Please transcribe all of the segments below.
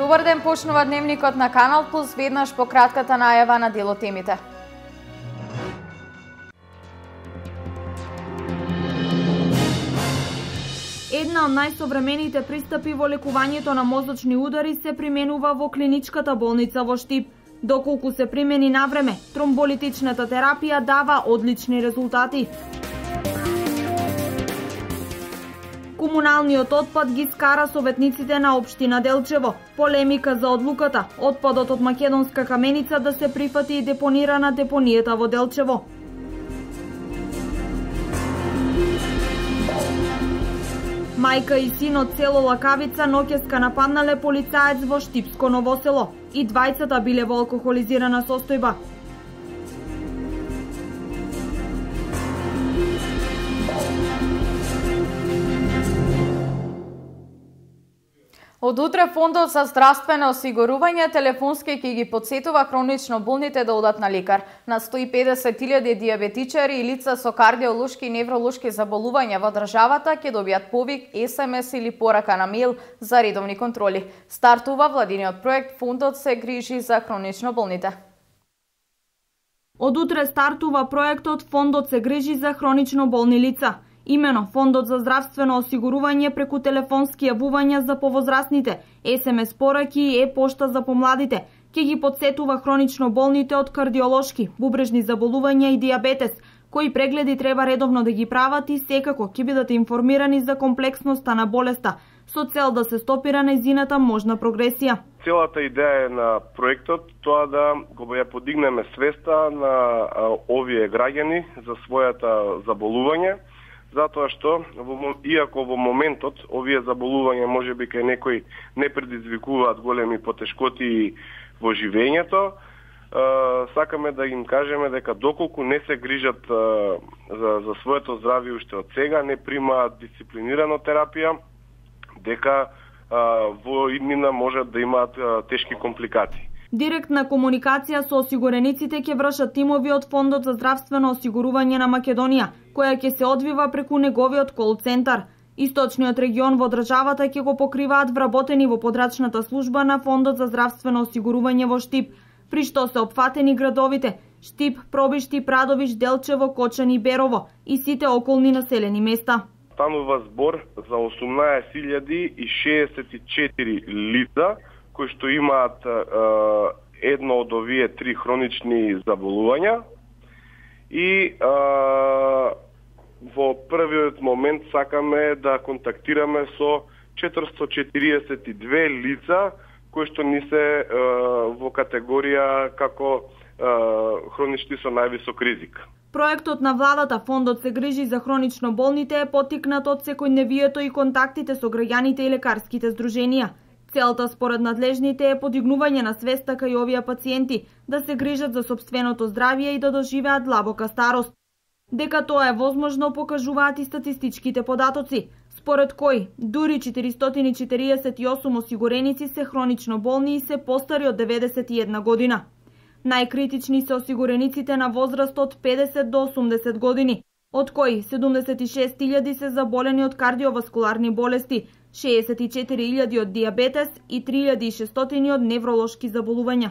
Добар ден, почнува дневникот на Канал Плюс, веднаш по кратката најава на дел од темите. Една од најсовремените пристапи во лекувањето на мозочни удари се применува во клиничката болница во Штип. Доколку се примени на време, тромболитичната терапија дава одлични резултати. Комуналниот отпад ги скара советниците на општина Делчево. Полемика за одлуката отпадот од македонска каменица да се прифати и депонира на депонијата во Делчево. Мајка и син од село Лакавица ноќеска нападнале полицаец во Штипско Новосело. И двајцата биле во алкохолизирана состојба. Од утре Фондот за здравствено осигурување телефонски ќе ги потсетува хронично болните да одат на лекар. На 150.000 дијабетичари и лица со кардиолошки и невролошки заболувања во државата ќе добијат повик, СМС или порака на мејл за редовни контроли. Стартува владиниот проект Фондот се грижи за хронично болните. Од утре стартува проектот Фондот се грижи за хронично болни лица. Имено Фондот за здравствено осигурување преку телефонски јавувања за повозрастните, СМС пораки и пошта за помладите, ќе ги потсетува хронично болните од кардиолошки, бубрежни заболувања и дијабетес, кои прегледи треба редовно да ги прават и секако ќе бидат информирани за комплексноста на болеста, со цел да се стопира нејзината можна прогресија. Целата идеја на проектот тоа да го ја подигнеме свеста на овие граѓани за својата заболување, затоа што, иако во моментот овие заболувања можеби кај некои не предизвикуваат големи потешкоти во живењето, сакаме да им кажеме дека доколку не се грижат за своето здравје уште од сега, не примаат дисциплинирано терапија, дека во иднина можат да имаат тешки компликации. Директна комуникација со осигурениците ќе вршат тимови од Фондот за здравствено осигурување на Македонија, која ќе се одвива преку неговиот кол-центар. Источниот регион во државата ќе го покриваат вработени во подрачната служба на Фондот за здравствено осигурување во Штип, при што се опфатени градовите Штип, Пробишти, Прадовиш, Делчево, Кочани и Берово и сите околни населени места. Станува збор за 18.064 лица кои што имаат едно од овие три хронични заболувања и во првиот момент сакаме да контактираме со 442 лица кои што ни се во категорија како хронични со највисок ризик. Проектот на владата Фондот се грижи за хронично болните е поттикнат од секојдневието и контактите со граѓаните и лекарските здруженија. Целта според надлежните е подигнување на свеста кај овие пациенти да се грижат за сопственото здравје и да доживеат длабока старост. Дека тоа е возможно покажуваат и статистичките податоци, според кои дури 448 осигуреници се хронично болни и се постари од 91 година. Најкритични се осигурениците на возраст од 50 до 80 години, од кои 76.000 се заболени од кардиоваскуларни болести, 64.000 од дијабетес и 3.600 од невролошки заболувања.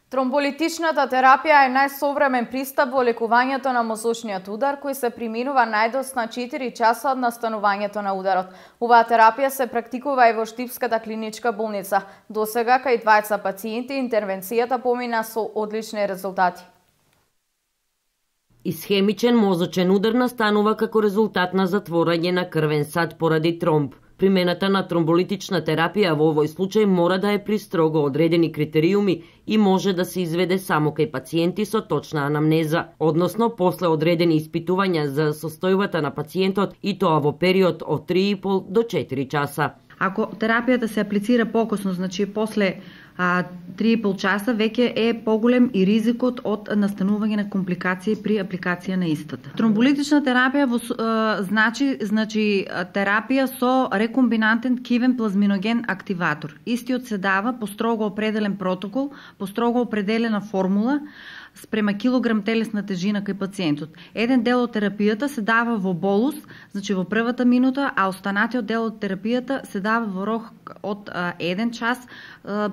Тромболитичната терапија е најсовремен пристап во лекувањето на мозочниот удар, кој се применува најдосна 4 часа од настанувањето на ударот. Оваа терапија се практикува и во Штипската клиничка болница. Досега кај двајца пациенти интервенцијата помина со одлични резултати. Исхемичен мозочен удар настанува како резултат на затворање на крвен сад поради тромб. Примената на тромболитична терапија во овој случај мора да е при строго одредени критериуми и може да се изведе само кај пациенти со точна анамнеза, односно после одредени испитувања за состојбата на пациентот и тоа во период од 3,5 до 4 часа. Ако терапијата се аплицира покосно, значи после 3,5 часа, веќе е поголем и ризикот од настанување на компликации при апликација на истата. Тромболитична терапија значи терапија со рекомбинантен кивен плазминоген активатор. Истиот се дава по строго определен протокол, по строго определена формула, спрема килограм телесна тежина кај пациентот. Еден дел од терапијата се дава во болус, значи во првата минута, а останатиот дел од терапијата се дава во рок од 1 час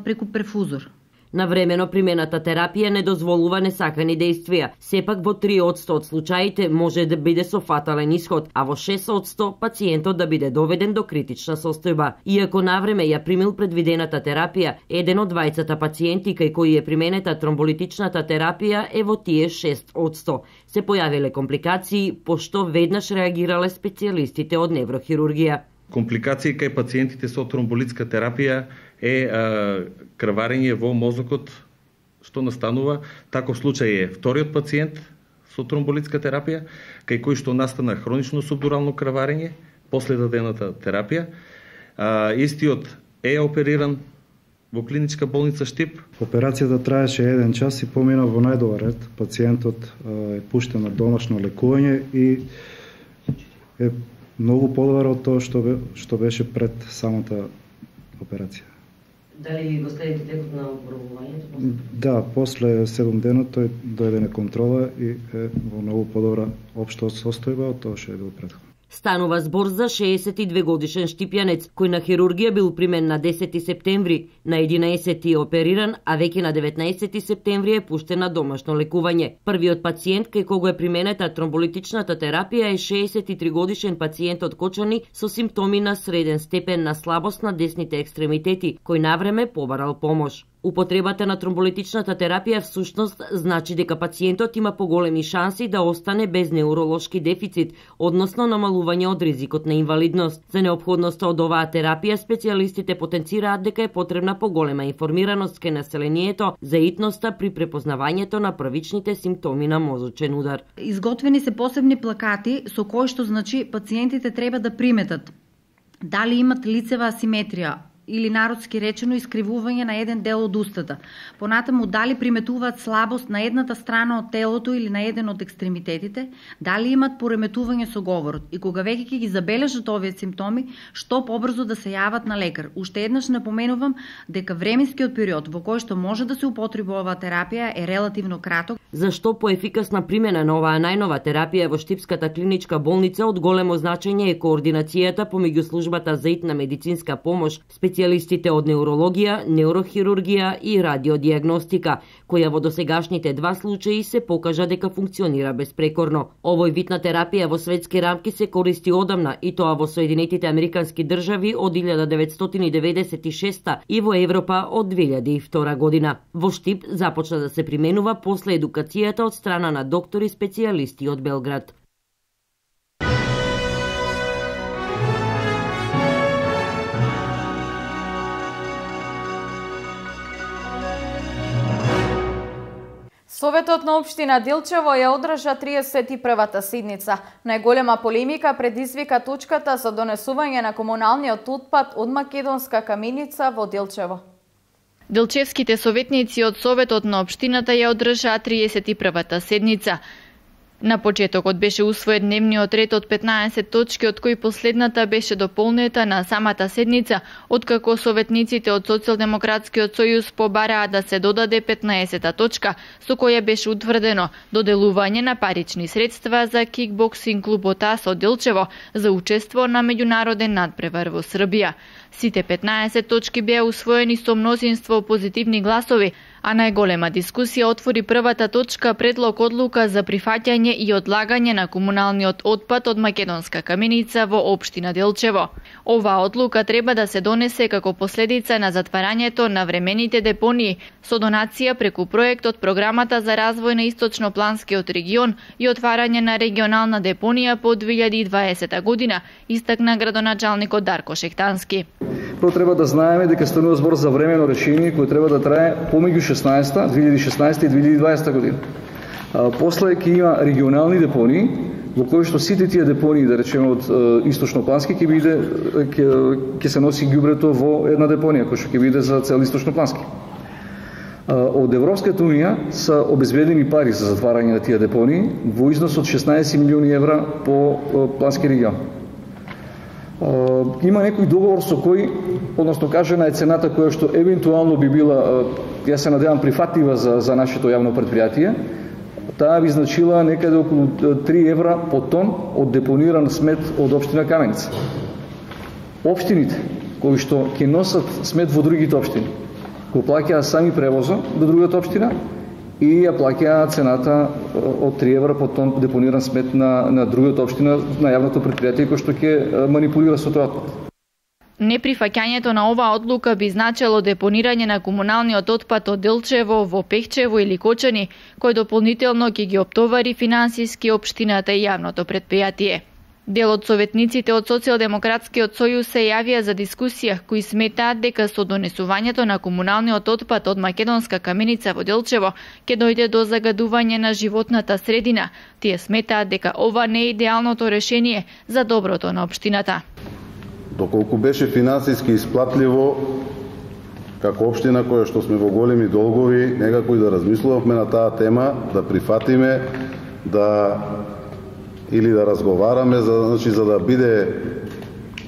преку перфузор. Навремено примената терапија не дозволува несакани дејствија. Сепак во 3% од случаите може да биде со фатален исход, а во 6% пациентот да биде доведен до критична состојба. Иако навреме ја примил предвидената терапија, еден од двајцата пациенти кај кои е применета тромболитичната терапија е во тие 6%. Се појавиле компликации, пошто веднаш реагирале специјалистите од неврохирургија. Компликации кај пациентите со тромболитска терапија е крварење во мозокот, што настанува. Таков случај е вториот пациент со тромболитска терапија, кај кој што настана хронично субдурално крварење после дадената терапија. Истиот е опериран во клиничка болница Штип. Операцијата траеше 1 час и помина во најдобар ред. Пациентот е пуштен на домашно лекување и е многу подобар од тоа што беше пред самата операција. Дали го следите текот на опробувањето? Да, после 7 дена тој дојде на контрола и е во многу подобра општа состојба од тоа што е бил претходно. Станува збор за 62 годишен штипјанец, кој на хирургија бил примен на 10 септември, на 11 е опериран, а веќе на 19 септември е пуштен на домашно лекување. Првиот пациент кај кого е применета тромболитичната терапија е 63 годишен пациент од Кочани со симптоми на среден степен на слабост на десните екстремитети, кој навреме побарал помош. Употребата на тромболитичната терапија всушност значи дека пациентот има поголеми шанси да остане без неуролошки дефицит, односно намалување од ризикот на инвалидност. За неопходноста од оваа терапија специјалистите потенцираат дека е потребна поголема информираност кај населението за итноста при препознавањето на првичните симптоми на мозочен удар. Изготвени се посебни плакати со кои што значи пациентите треба да приметат дали имат лицева асиметрија или народски речено искривување на еден дел од устата. Понатаму дали приметуваат слабост на едната страна од телото или на еден од екстремитетите, дали имат пореметување со говорот и кога веќе ќе ги забележат овие симптоми, што побрзо да се јават на лекар. Уште еднаш напоменувам дека временскиот период во кој што може да се употреби оваа терапија е релативно краток. Зашто поефикасна примена на оваа најнова терапија во Штипската клиничка болница од големо значење е координацијата помеѓу службата за итна медицинска помош, специјалистите од неурологија, неурохирургија и радиодиагностика, која во досегашните 2 случаи се покажа дека функционира безпрекорно. Овој вид на терапија во светски рамки се користи одамна и тоа во Соединетите Американски држави од 1996 и во Европа од 2002 година. Во Штип започна да се применува после едукацијата од страна на доктори специјалисти од Белград. Советот на општина Делчево ја одржа 31-та седница. Најголема полемика предизвика точката за донесување на комуналниот отпад од Македонска каменица во Делчево. Делчевските советници од Советот на општината ја одржаа 31-та седница. На почетокот беше усвоен дневниот ред од 15 точки, од кои последната беше дополнета на самата седница, откако советниците од Социјалдемократскиот сојуз побараа да се додаде 15-та точка, со која беше утврдено доделување на парични средства за кикбоксинг клубот АС од Делчево за учество на меѓународен надпревар во Србија. Сите 15 точки беа усвоени со мнозинство позитивни гласови, а најголема дискусија отвори првата точка предлог одлука за прифаќање и одлагање на комуналниот отпад од Македонска каменица во општина Делчево. Оваа одлука треба да се донесе како последица на затварањето на времените депонии со донација преку проектот Програмата за развој на Источнопланскиот регион и отварање на регионална депонија по 2020 година, истакна градоначалникот Дарко Шехтански. Прво треба да знаеме дека станува збор за времено решение кој треба да трае помеѓу 2016 и 2020 година. После ќе има регионални депонии, во кои што сите тие депонии, да речеме од Источноплански, ќе се носи ѓубрето во една депонија, која што ќе биде за цел Источноплански. Од Европската унија са обезбедени пари за затварање на тие депонии во износ од 16 милиони евра по плански регион. Има некој договор со кој, односно кажана е цената која што евентуално би била, ја се надевам, прифатлива за нашето јавно предпријатие. Таа би значила некаде околу 3 евра по тон од депониран смет од општина Каменица. Општините кои што ќе носат смет во другите општини, го плаќаат сами превоза до другата општина и ја плаќаат цената од 3 евра по тон депониран смет на другата општина, на јавното предпријатие кој што ќе манипулира со тој отпад. Неприфаќањето на оваа одлука би значело депонирање на комуналниот отпад од Делчево во Пехчево или Кочани, кој дополнително ќе ги оптовари финансиски општината и јавното предпријатие. Дел од советниците од Социјалдемократскиот сојуз се јавија за дискусија, кои сметаат дека со донесувањето на комуналниот отпад од Македонска каменица во Делчево ќе дојде до загадување на животната средина. Тие сметаат дека ова не е идеалното решение за доброто на општината. Доколку беше финансиски исплатливо, како општина која што сме во големи долгови, некако и да размислувавме на таа тема, да прифатиме, или да разговараме за да биде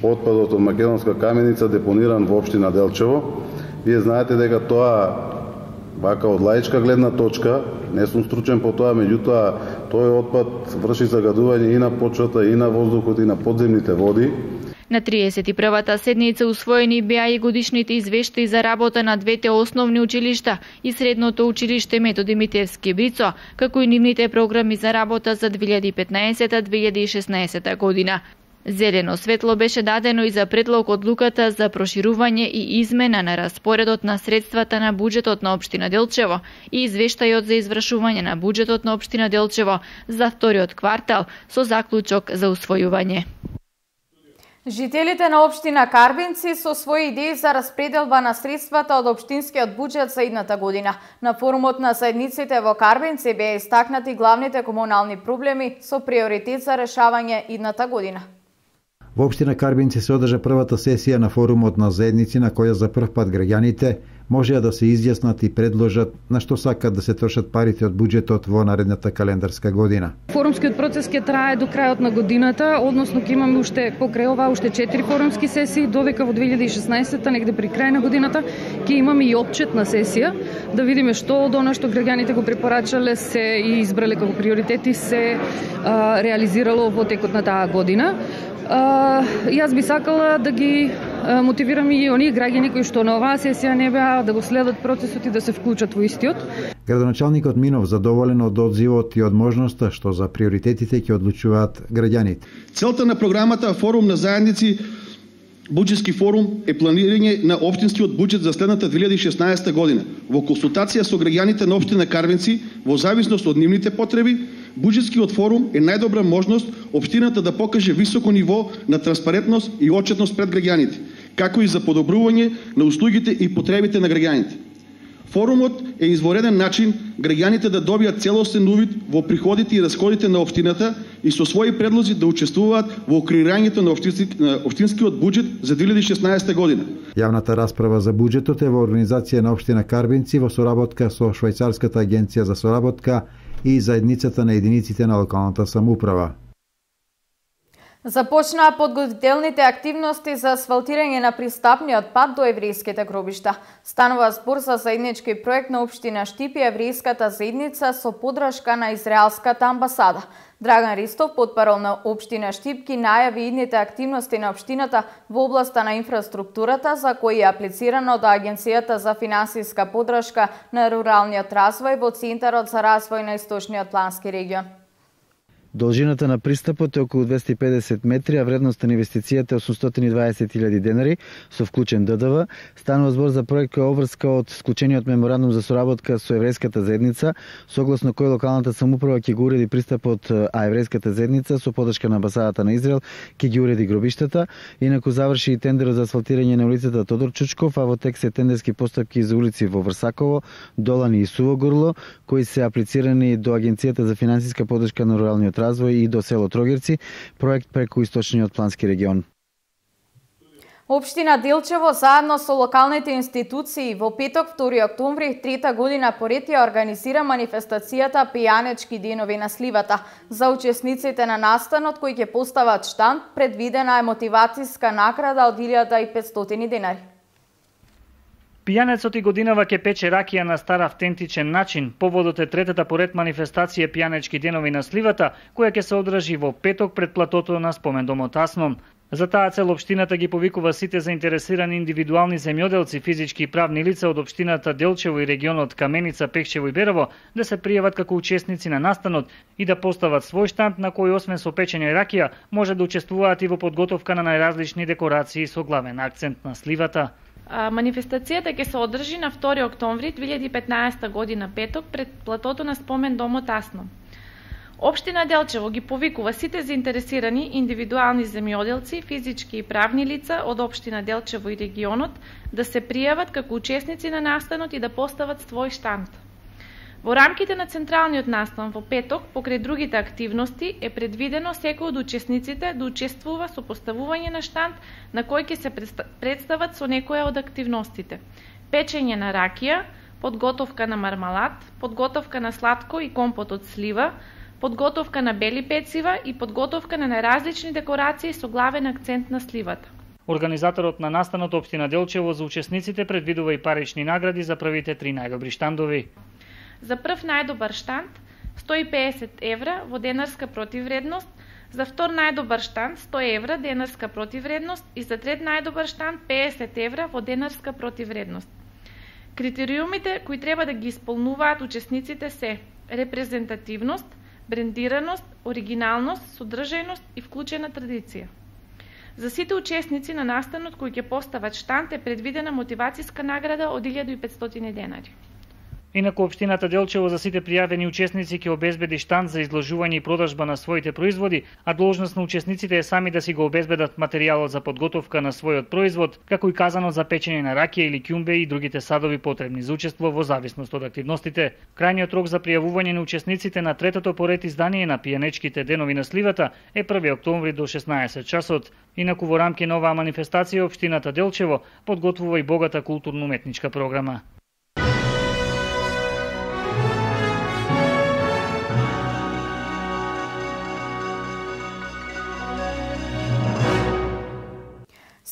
отпадот од Македонска каменица депониран во општина Делчево. Вие знаете дека тоа, вака од лаичка гледна точка, не сум стручен по тоа, меѓутоа тој отпад врши загадување и на почвата, и на воздухот, и на подземните води. На 31-та седница усвоени беа и годишните извештаи за работа на двете основни училишта и средното училиште Методи Митевски Брицо, како и нивните програми за работа за 2015-2016 година. Зелено светло беше дадено и за предлог одлуката за проширување и измена на распоредот на средствата на буџетот на општина Делчево и извештајот за извршување на буџетот на општина Делчево за вториот квартал со заклучок за усвојување. Жителите на општина Карбинци со своји идеи за распределба на средствата од општинскиот буџет за идната година. На форумот на заедниците во Карбинци беа истакнати главните комунални проблеми со приоритет за решавање идната година. Во општина Карбинци се одржа првата сесија на форумот на заедници на која за прв пат граѓаните можеа да се изјаснат и предложат на што сакат да се трошат парите од буџетот во наредната календарска година. Форумскиот процес ќе трае до крајот на годината, односно ќе имаме уште покрај ова уште 4 форумски сесии, додека во 2016-та негде при крај на годината ќе имаме и отчетна сесија да видиме што од она што граѓаните го препорачале се и избрале како приоритети се реализирало во текот на таа година. Јас би сакала да ги мотивирам и оние граѓани кои што на оваа сесија не беа да го следат процесот и да се вклучат во истиот. Градоначалникот Минов задоволен од одзивот и од можноста што за приоритетите ќе одлучуваат граѓаните. Целта на програмата Форум на заедници Буџетски форум е планирање на општинскиот буџет за следната 2016 година. Во консултација со граѓаните на општина Карвенци, во зависност од нивните потреби, Буџетскиот форум е најдобра можност општината да покаже високо ниво на транспарентност и отчетност пред граѓаните, како и за подобрување на услугите и потребите на граѓаните. Форумот е извореден начин граѓаните да добијат целосен увид во приходите и расходите на општината и со своји предлози да учествуваат во креирањето на општинскиот буџет за 2016 година. Јавната расправа за буџетот е во организација на општина Карбинци во соработка со Швајцарската агенција за соработка и заедницата на единиците на локалната самоуправа. Започнаа подготвителните активности за асфалтирање на пристапниот пат до еврејските гробишта. Станува збор за заеднички проект на општина Штип и еврејската заедница со поддршка на израелската амбасада. Драган Ристов, потпарол на општина Штип, ги најави идните активности на општината во областа на инфраструктурата за кои е аплицирано до Агенцијата за финансиска поддршка на руралниот развој во Центарот за развој на Источниот плански регион. Должината на пристапот е околу 250 метри, а вредноста на инвестицијата е 820.000 денари со вклучен ДДВ. Станува збор за проект кој обврска од склучениот меморандум за соработка со еврејската заедница, согласно кој локалната самоуправа ќе го уреди пристапот, а еврејската заедница со поддршка на амбасадата на Израел ќе ги уреди гробиштата. Инаку заврши и тендерот за асфалтирање на улицата Тодор Чучков, а во тек се тендерски постапки за улици во Врсаково, Долани и Сувогорло, кои се аплицирани до Агенцијата за финансиска поддршка на руралниот развој и до село Трогерци, проект преку Источниот плански регион. Општина Делчево заедно со локалните институции во петок 2 октомври трета година поред ја организира манифестацијата Пијанечки денови на сливата. За учесниците на настанот кои ќе постават штанд, предвидена е мотивацијска награда од 1500 денари. Пијанецот и годинава ќе пече ракија на стар автентичен начин. Поводот е третата поред манифестација Пијанечки денови на сливата, која ќе се одржи во петок пред платото на спомендомот Аснон. За таа цел општината ги повикува сите заинтересирани индивидуални земјоделци, физички и правни лица од општината Делчево и регионот Каменица, Пехчево и Берово да се пријават како учесници на настанот и да постават свој штанд на кој освен со печење ракија може да учествуваат и во подготовка на најразлични декорации со главен акцент на сливата. Манифестацијата ќе се одржи на 2 октомври 2015 година петок пред платото на спомендомот Аснон. Општина Делчево ги повикува сите заинтересирани индивидуални земјоделци, физички и правни лица од општина Делчево и регионот да се пријават како учесници на настанот и да постават свој штанд. Во рамките на централниот настан во петок, покрај другите активности, е предвидено секој од учесниците да учествува со поставување на штанд на кој ќе се представат со некоја од активностите: печење на ракија, подготовка на мармалад, подготовка на сладко и компот од слива, подготовка на бели пецива и подготовка на најразлични декорации со главен акцент на сливата. Организаторот на настанот општина Делчево за учесниците предвидува и парични награди за првите 3 најдобри штандови. За прв најдобар штанд 150 евра во денарска противвредност, за втор најдобар штанд 100 евра денарска противвредност и за трет најдобар штанд 50 евра во денарска противвредност. Критериумите кои треба да ги исполнуваат учесниците се репрезентативност, брендираност, оригиналност, содржајност и вклучена традиција. За сите учесници на настанот кои ќе постават штанд е предвидена мотивацијска награда од 1500 денари. Инаку општината Делчево за сите пријавени учесници ќе обезбеди штанд за изложување и продажба на своите производи, а должност на учесниците е сами да си го обезбедат материјалот за подготовка на својот производ, како и казанот за печење на ракија или ќумбе и другите садови потребни за учество во зависност од активностите. Крајниот рок за пријавување на учесниците на третото поред издание на Пијанечките денови на сливата е 1 октомври до 16 часот. Инаку во рамки на оваа манифестација општината Делчево подготвува и богата културно-уметничка програма.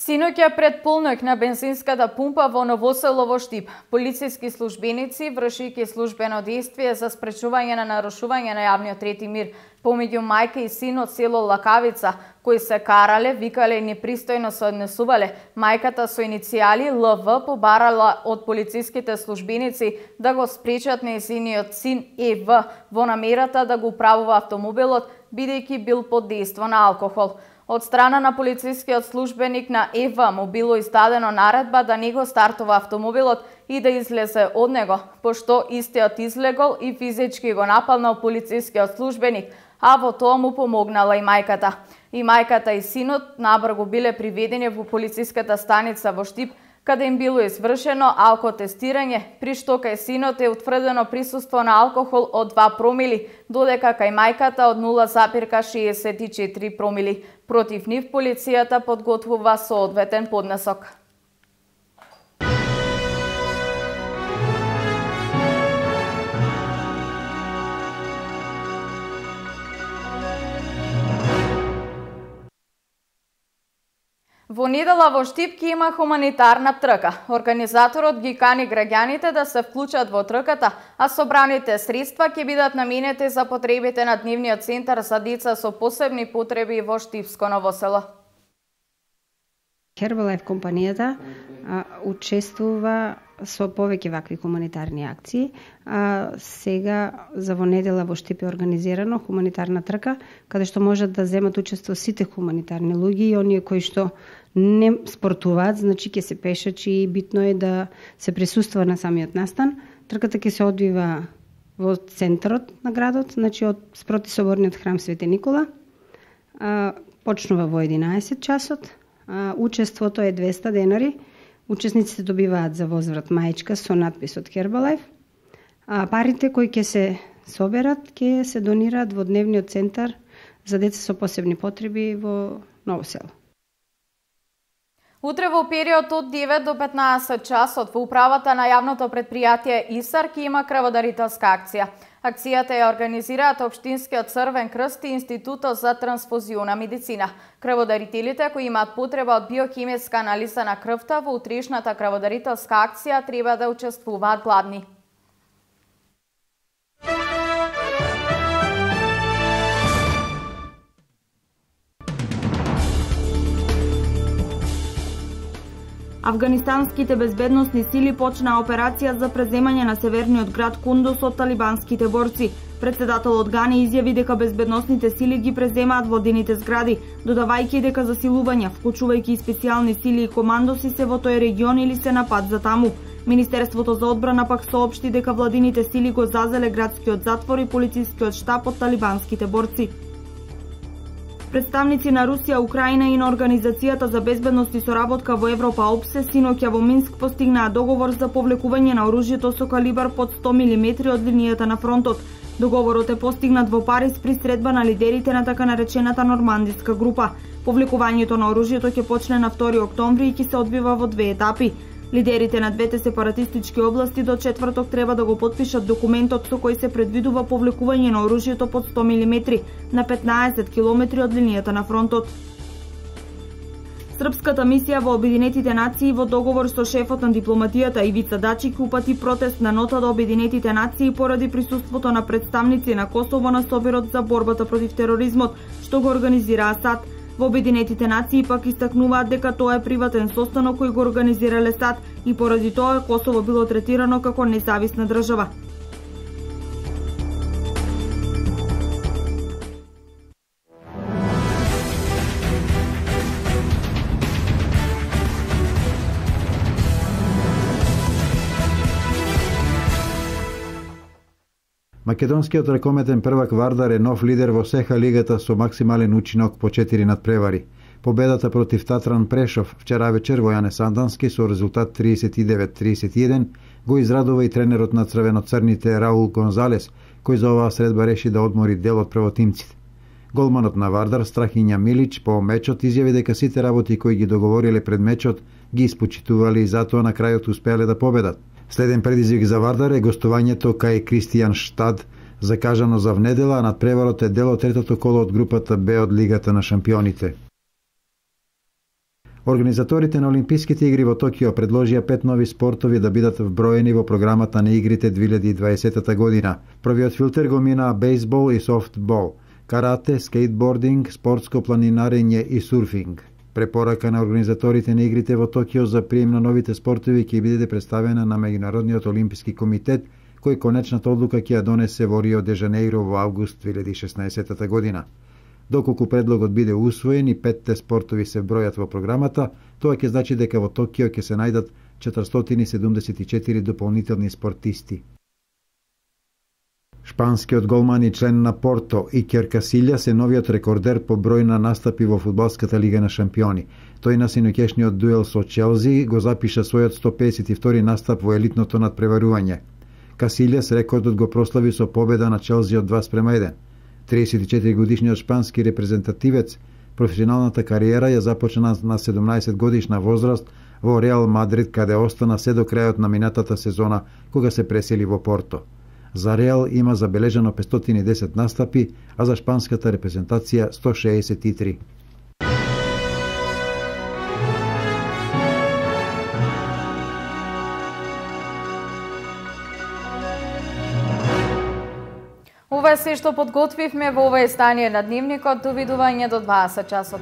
Синоќа пред полноќ на бензинската пумпа во Новоселово Штип, полициски службеници вршејќи службено дејствие за спречување на нарушување на јавниот ред и мир помеѓу мајка и син од село Лакавица, кои се карале, викале и непристојно се однесувале. Мајката со иницијали ЛВ побарала од полициските службеници да го спречат нејзиниот син ЕВ во намерата да го управува автомобилот, бидејќи бил под дејство на алкохол. Од страна на полицискиот службеник на ЕВ му било издадено наредба да не го стартува автомобилот и да излезе од него, пошто истиот излегол и физички го нападнал полицискиот службеник, а во тоа му помогнала и мајката. И мајката и синот набрзо биле приведени во полициската станица во Штип, каде им било извршено алкотестирање, при што кај синот е утврдено присуство на алкохол од 2 промили, додека кај мајката од 0,64 промили. Против нив полицијата подготвува соодветен поднесок. Во недела во Штип ќе има хуманитарна трка. Организаторот ги кани граѓаните да се вклучат во трката, а собраните средства ќе бидат наменети за потребите на дневниот центар за деца со посебни потреби во Штипско Новосело. Herbalife компанијата учествува со повеќе вакви хуманитарни акции. Сега за во недела во Штип е организирано хуманитарна трка, каде што можат да земат учество сите хуманитарни луѓе и оние кои што не спортуваат, значи ќе се пешачи и битно е да се присуствува на самиот настан. Трката ќе се одвива во центарот на градот, значи од спроти соборниот храм Свети Никола. Почнува во 11 часот. Учеството е 200 денари. Учесниците добиваат за возврат маечка со надпис од Herbalife. Парите кои ќе се соберат ќе се донираат во дневниот центар за деца со посебни потреби во Ново село. Утре во период од 9 до 15 часот во управата на јавното предпријатие ИСАР ќе има крводарителска акција. Акцијата ја организираат Општинскиот Црвен крст и Институтот за трансфузиона медицина. Крводарителите кои имаат потреба од биохемиска анализа на крвта во утрешната крводарителска акција треба да учествуваат гладни. Афганистанските безбедносни сили почнаа операција за преземање на северниот град Кундуз од талибанските борци. Председателот Гани изјави дека безбедносните сили ги преземаат владините згради, додавајќи дека засилувања, вклучувајќи и специјални сили и командоси се во тој регион или се на пат за таму. Министерството за одбрана пак соопшти дека владините сили го зазеле градскиот затвор и полицискиот штаб од талибанските борци. Представници на Русија, Украина и на Организацијата за безбедност и соработка во Европа ОПСЕ синоќа во Минск постигнаа договор за повлекување на оружјето со калибар под 100 мм од линијата на фронтот. Договорот е постигнат во Париз при средба на лидерите на така наречената нормандиска група. Повлекувањето на оружјето ќе почне на 2 октомври и ќе се одвива во 2 етапи. Лидерите на двете сепаратистички области до четврток треба да го потпишат документот со кој се предвидува повлекување на оружјето под 100 мм на 15 км од линијата на фронтот. Српската мисија во Обединетите нации во договор со шефот на дипломатијата Ивица Дачик упати протест на нота до Обединетите нации поради присуството на представници на Косово на Собирот за борбата против тероризмот, што го организира САД. Во Обединетите нации пак истакнуваат дека тоа е приватен состанок кој го организирале САД и поради тоа Косово било третирано како независна држава. Македонскиот ракометен првак Вардар е нов лидер во СХ лигата со максимален учинок по 4 надпревари. Победата против Татран Прешов вчера вечер во Јане Сандански со резултат 39-31 го израдува и тренерот на црвено-црните Раул Гонзалес, кој за оваа средба реши да одмори дел од првотимците. Голманот на Вардар Страхиња Милич по мечот изјави дека сите работи кои ги договориле пред мечот ги испочитувале и затоа на крајот успеале да победат. Следен предизвик за Вардар е гостувањето кај Кристијан Штад, закажано за внедела, а надпреварот е дел од третото коло од групата Б од Лигата на шампионите. Организаторите на Олимписките игри во Токио предложија 5 нови спортови да бидат вброени во програмата на игрите 2020 година. Првиот филтер го мина бейсбол и софтбол, карате, скейтбординг, спортско планинарење и сурфинг. Препорака на организаторите на игрите во Токио за прием на новите спортови ќе биде представена на Меѓународниот олимписки комитет, кој конечната одлука ќе ја донесе во Рио де Жанеиро во август 2016 година. Доколку предлогот биде усвоен и 5 спортови се бројат во програмата, тоа ќе значи дека во Токио ќе се најдат 474 дополнителни спортисти. Шпанскиот голман и член на Порто Икер Касилјас е новиот рекордер по број на настапи во фудбалската лига на шампиони. Тој на синоќешниот дуел со Челси го запиша својот 152 настап во елитното надпреварување. Касилјас рекордот го прослави со победа на Челси од 2:1. 34 годишниот шпански репрезентативец професионалната кариера ја започна на 17 годишна возраст во Реал Мадрид, каде остана се до крајот на минатата сезона кога се пресели во Порто. За Реал има забележано 510 настапи, а за шпанската репрезентација 163. Ова е се што подготвивме во ова издание на Дневникот. Довидување до 20 часот.